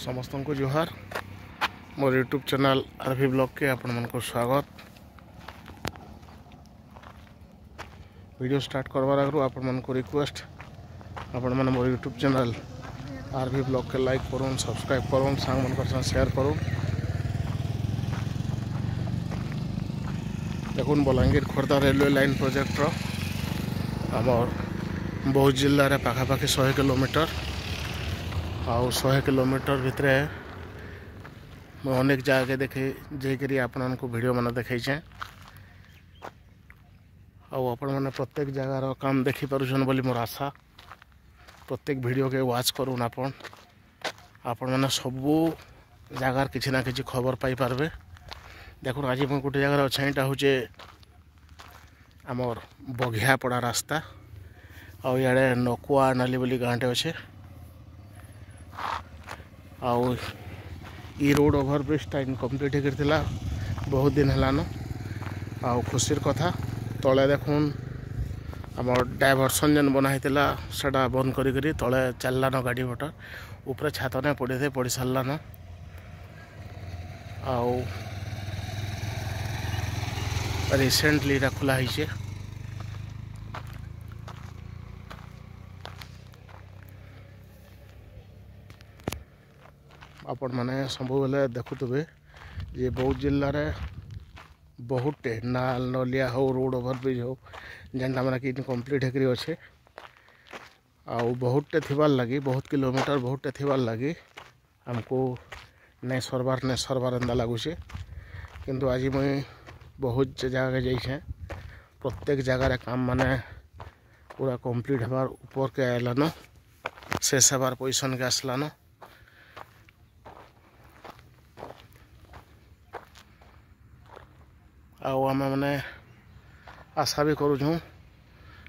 ସମସ୍ତଙ୍କୁ ଜୁହାର। ମୋର ୟୁଟ୍ୟୁବ୍ ଚ୍ୟାନେଲ୍ ଆର୍ ଭି ବ୍ଲଗ୍କେ ଆପଣମାନଙ୍କୁ ସ୍ୱାଗତ। ଭିଡ଼ିଓ ଷ୍ଟାର୍ଟ କରବାର ଆଗରୁ ଆପଣମାନଙ୍କୁ ରିକ୍ୱେଷ୍ଟ, ଆପଣମାନେ ମୋର ୟୁଟ୍ୟୁବ୍ ଚ୍ୟାନେଲ୍ ଆର୍ ଭି ବ୍ଲଗ୍କେ ଲାଇକ୍ କରୁନ୍, ସବସ୍କ୍ରାଇବ୍ କରୁନ୍, ସାଙ୍ଗମାନଙ୍କର ସାଙ୍ଗେ ସେୟାର କରୁନ୍। ଦେଖୁନ୍, ବଲାଙ୍ଗୀର ଖୋର୍ଦ୍ଧା ରେଲୱେ ଲାଇନ୍ ପ୍ରୋଜେକ୍ଟର ଆମର୍ ବୌଦ୍ଧ ଜିଲ୍ଲାରେ ପାଖାପାଖି 100 କିଲୋମିଟର। ଆଉ 100 କିଲୋମିଟର ଭିତରେ ମୁଁ ଅନେକ ଜାଗାକେ ଦେଖି ଯାଇକରି ଆପଣମାନଙ୍କୁ ଭିଡ଼ିଓ ମାନେ ଦେଖେଇଛେଁ। ଆଉ ଆପଣମାନେ ପ୍ରତ୍ୟେକ ଜାଗାର କାମ ଦେଖିପାରୁଛନ୍ ବୋଲି ମୋର ଆଶା। ପ୍ରତ୍ୟେକ ଭିଡ଼ିଓକେ ୱାଚ୍ କରୁନ୍ ଆପଣ, ଆପଣମାନେ ସବୁ ଜାଗାର କିଛି ନା କିଛି ଖବର ପାଇପାରବେ। ଦେଖୁନ୍, ଆଜି ମୁଁ ଗୋଟେ ଜାଗାରେ ଅଛେ। ଏଇଟା ହଉଛେ ଆମର୍ ବଘିଆପଡ଼ା ରାସ୍ତା। ଆଉ ଇଆଡ଼େ ନକୁଆ ନାଲି ବୋଲି ଗାଁଟେ ଅଛେ। ଆଉ ଇ ରୋଡ଼ ଓଭରବ୍ରିଜଟା ଇନକମ୍ପ୍ଲିଟ୍ ହେଇକରି ଥିଲା ବହୁତ ଦିନ ହେଲାନ। ଆଉ ଖୁସିର କଥା, ତଳେ ଦେଖୁନ୍, ଆମର୍ ଡାଇଭରସନ୍ ଯେନ୍ ବନା ହେଇଥିଲା, ସେଟା ବନ୍ଦ କରିକରି ତଳେ ଚାଲିଲାନ ଗାଡ଼ି ମଟର। ଉପରେ ଛାତ ନାଇଁ ପଡ଼ିଥାଏ, ପଡ଼ି ସାରିଲାନ। ଆଉ ରିସେଣ୍ଟଲି ଏଇଟା ଖୋଲା ହେଇଛେ। ଆପଣମାନେ ସବୁବେଲେ ଦେଖୁଥିବେ ଯେ ବୌଦ୍ଧ ଜିଲ୍ଲାରେ ବହୁତଟେ ନାଲ ନଲିଆ ହଉ, ରୋଡ଼ ଓଭରବ୍ରିଜ୍ ହଉ, ଯେନ୍ଟା ମାନେ କି ଇନକମ୍ପ୍ଲିଟ୍ ହେଇକରି ଅଛେ। ଆଉ ବହୁତଟେ ଥିବାର୍ ଲାଗି, ବହୁତ କିଲୋମିଟର ବହୁତଟେ ଥିବାର୍ ଲାଗି ଆମକୁ ନାଇଁ ସରବାର୍ ନାଇଁ ସରବାର୍ ଏନ୍ତା ଲାଗୁଛେ। କିନ୍ତୁ ଆଜି ମୁଇଁ ବହୁତ ଜାଗାକେ ଯାଇଛେଁ, ପ୍ରତ୍ୟେକ ଜାଗାରେ କାମ ମାନେ ପୁରା କମ୍ପ୍ଲିଟ୍ ହେବାର୍ ଉପରକେ ଆଇଲାନ, ଶେଷ ହେବାର୍ ପୋଜିସନ୍କେ ଆସିଲାନ। ଆଉ ଆମେ ମାନେ ଆଶା ବି କରୁଛୁଁ,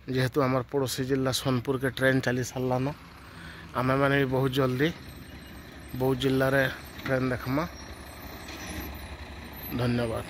ଯେହେତୁ ଆମର ପଡ଼ୋଶୀ ଜିଲ୍ଲା ସୋନପୁରକେ ଟ୍ରେନ୍ ଚାଲି ସାରିଲାନ, ଆମେମାନେ ବି ବହୁତ ଜଲ୍ଦି ବୌଦ୍ଧ ଜିଲ୍ଲାରେ ଟ୍ରେନ୍ ଦେଖ୍ମା। ଧନ୍ୟବାଦ।